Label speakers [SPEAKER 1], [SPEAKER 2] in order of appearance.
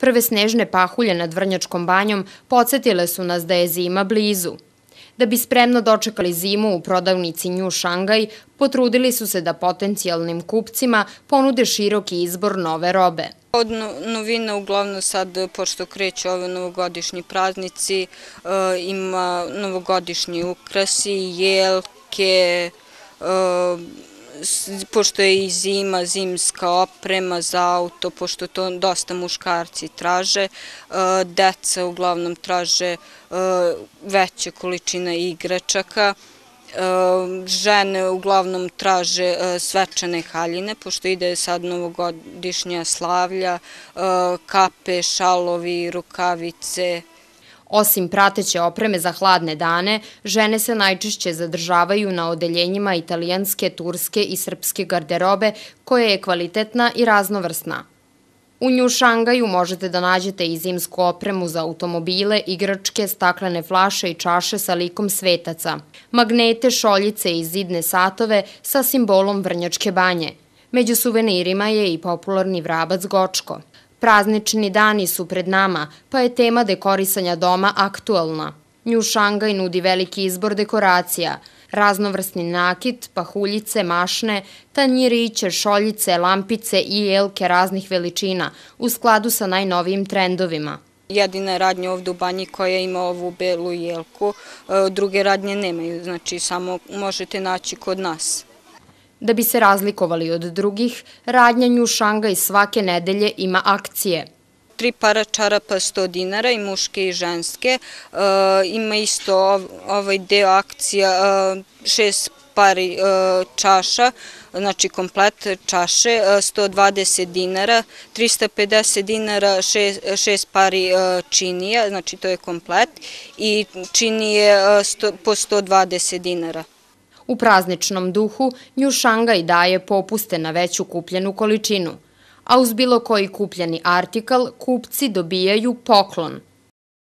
[SPEAKER 1] Prve snežne pahulje nad Vrnjačkom banjom podsjetile su nas da je zima blizu. Da bi spremno dočekali zimu u prodavnici New Shanghai, potrudili su se da potencijalnim kupcima ponude široki izbor nove robe.
[SPEAKER 2] Od novina uglavnom sad, pošto kreću ove novogodišnji praznici, ima novogodišnji ukrasi, jelke, pošto je i zima, zimska oprema za auto, pošto to dosta muškarci traže, deca uglavnom traže veće količine igračaka, žene uglavnom traže svečane haljine, pošto ide sad novogodišnja slavlja, kape, šalovi, rukavice.
[SPEAKER 1] Osim prateće opreme za hladne dane, žene se najčešće zadržavaju na odeljenjima italijanske, turske i srpske garderobe, koja je kvalitetna i raznovrsna. U New Shanghaju možete da nađete i zimsku opremu za automobile, igračke, staklene flaše i čaše sa likom svetaca, magnete, šoljice i zidne satove sa simbolom Vrnjačke banje. Među suvenirima je i popularni vrabac Gočko. Praznični dani su pred nama, pa je tema dekorisanja doma aktuelna. New Shanghai nudi veliki izbor dekoracija, raznovrsni nakit, pahuljice, mašne, tanjiriće, šoljice, lampice i jelke raznih veličina u skladu sa najnovijim trendovima.
[SPEAKER 2] Jedina radnja ovdje u banji koja ima ovu belu jelku, druge radnje nemaju, znači samo možete naći kod nas.
[SPEAKER 1] Da bi se razlikovali od drugih, radnja New Shanghai svake nedelje ima akcije.
[SPEAKER 2] 3 para čarapa 100 dinara i muške i ženske. Ima isto ovaj deo akcija 6 pari čaša, znači komplet čaše, 120 dinara, 350 dinara 6 pari činija, znači to je komplet, i činije po 120 dinara.
[SPEAKER 1] U prazničnom duhu New Shanghai daje popuste na veću kupljenu količinu, a uz bilo koji kupljeni artikal kupci dobijaju poklon.